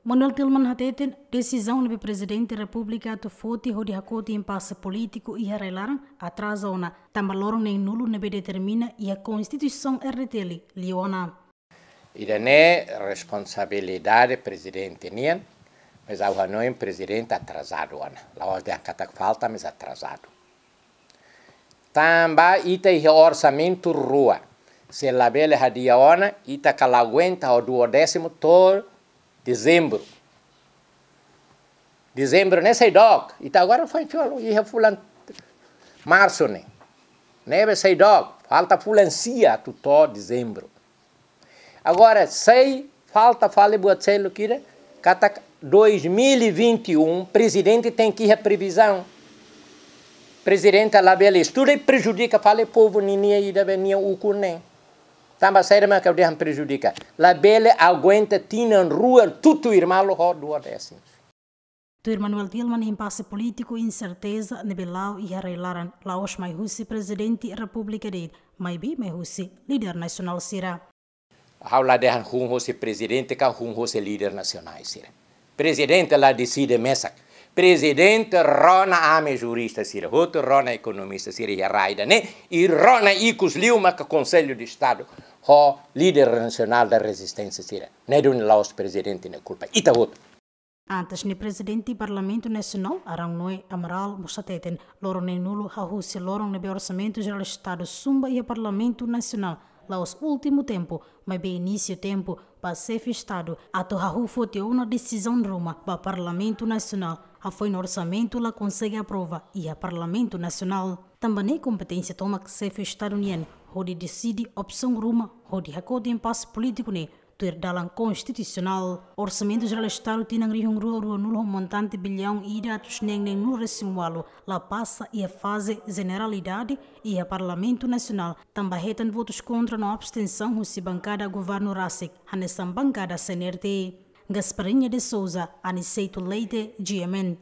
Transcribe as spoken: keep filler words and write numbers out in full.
Manuel Tilman hateten, desizaun ne'ebé Prezidente Repúblika atu foti hodi hakoti impase polítiku iha rai-laran atraza ona, tanba loron neen-nulu ne'ebé determina iha Konstituisaun R D T L liu ona. Ida-ne'e responsabilidade prezidente nian, mas ha'u hanoin prezidente atrasadu ona. La'ós dehan katak falta, mas atrasadu. Tanba ita iha orsamentu rua. Se labele hadi'a ona, ita ka la aguenta ho duodésimu to'o dezembru. Dezembru ne'e sei dook, ita agora foin tolu, iha fulan marsu ne'e. Ne'ebé sei dook, falta fulan sia atu to'o dezembru. Agora, sei falta fali buat seluk ida, katak dois mil e vinte e um, prezidente tenke iha previzaun. Prezidente labele estuda i prejudika fali povu ninia ida be nia ukun ne'e. Tanba saida mak ha'u dehan prejudika? Labele aguenta tinan rua tutuir malu ho duodésimu. Tuir Manuel Tilman, impase polítiku, inserteza ne'ebé la'o iha rai-laran, la'ós mai husi Prezidente Repúblika de'it, maibé mai husi líder nasionál sira. Ha'u la dehan hun husi prezidente ka hun husi líder nasionál sira. Prezidente la deside mesak. Prezidente rona ami jurista sira hotu, rona ekonomista sira iha rai ida-ne'e, i rona ikus liu maka Konsellu de Estadu ho líder nasionál da rezisténsia sira. Ne'e duni la'ós prezidente nia kulpa. Ita hotu. Antes ne'e, Prezidente Parlamentu Nasionál, Arão Noé Amaral, mós hateten, loron neen-nulu hahú husi loron ne'ebé Orsamentu Jerál Estadu zumba iha Parlamentu Nasionál, la'ós últimu tempu, maibé inísiu tempu ba Xefe Estadu atu hahú foti ona desizaun ruma ba Parlamentu Nasionál, hafoin orsamentu la konsege aprova iha Parlamentu Nasionál. Tanba ne'e kompeténsia tomak Xefe Estadu nian hodi deside opsaun ruma hodi hakoti impase polítiku ne'e tuir dalan konstitusionál. Orsamentu Jerál Estadu tinan rihun rua ruanulu ho montante biliaun ida atus neen neenulu-resin-ualu la pasa iha faze jeneralidade iha Parlamentu Nasionál, tanba hetan votus kontra no abstensaun husi bankada governu rasik, hanesan bankada C N R T. Gasparinha de Souza, Aniceto Leite, G M N.